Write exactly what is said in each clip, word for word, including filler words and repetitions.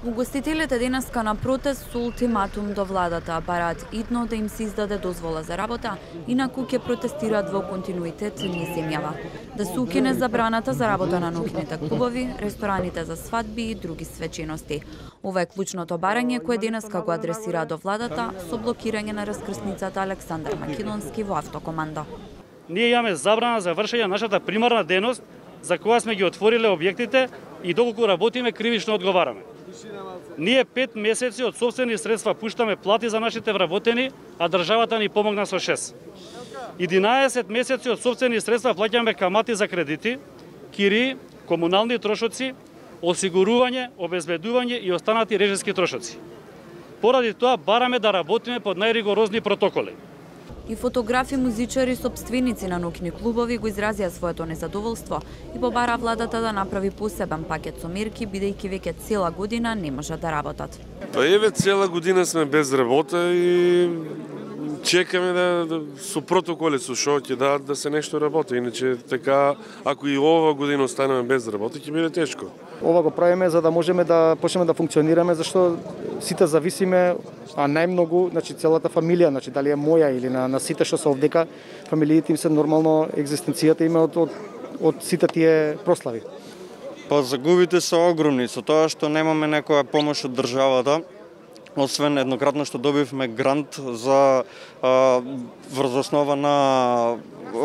Угостителите денеска на протест со ултиматум до владата бараат идно да им се издаде дозвола за работа, инаку ќе протестираат во континуитет низ земјава. Да се укине забраната за работа на ноќните клубови, рестораните за свадби и други свечености. Ова е клучното барање кое денеска го адресира до владата со блокирање на раскрсницата Александар Македонски во автокоманда. Ние имаме забрана за вршење на нашата примарна дејност, за која сме ги отвориле објектите и доколку работиме кривично одговараме. Ние пет месеци од сопствени средства пуштаме плати за нашите вработени, а државата ни помогна со шест. единаесет месеци од сопствени средства плаќаме камати за кредити, кири, комунални трошоци, осигурување, обезбедување и останати режиски трошоци. Поради тоа бараме да работиме под најригорозни протоколи. И фотографи, музичари, сопственици на ноќни клубови го изразија своето незадоволство и побара владата да направи посебен пакет со мерки, бидејќи веќе цела година не можат да работат. Па еве цела година сме без работа и чекаме да, да со протоколи со што ќе дадат да се нешто работи, иначе така ако и ова година останеме без работа ќе биде тешко. Ова го правиме за да можеме да почнеме да функционираме, зашто сите зависиме, а најмногу, значи целата фамилија, значи дали е моја или на, на сите што се овдека, фамилиите им се нормално екзистенцијата има од, од, од сите тие прослави. Па загубите се огромни со тоа што немаме некоја помош од државата. Освен еднократно што добивме грант за а, врз основа на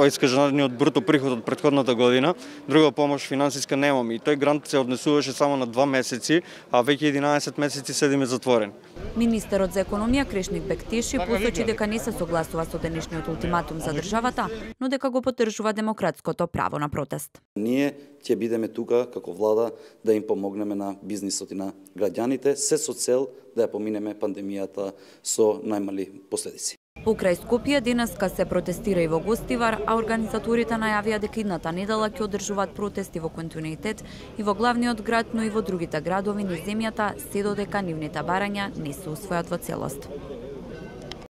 искажаниот бруто приход од претходната година, друга помош финансиска немаме и тој грант се однесуваше само на два месеци, а веќе единаесет месеци седиме затворен. Министерот за економија Крешник Бектеши посочи дека не се согласува со денешниот ултиматум за државата, но дека го поддржува демократското право на протест. Ние ќе бидеме тука како влада да им помогнеме на бизнисот и на граѓаните, се со цел да ја поминеме пандемијата со најмали последици. Покрај Скопје денеска се протестира и во Гостивар, а организаторите најавија дека идната недела ќе одржуваат протести во континуитет и во главниот град, но и во другите градови низ земјата, се додека нивните барања не се усвојат во целост.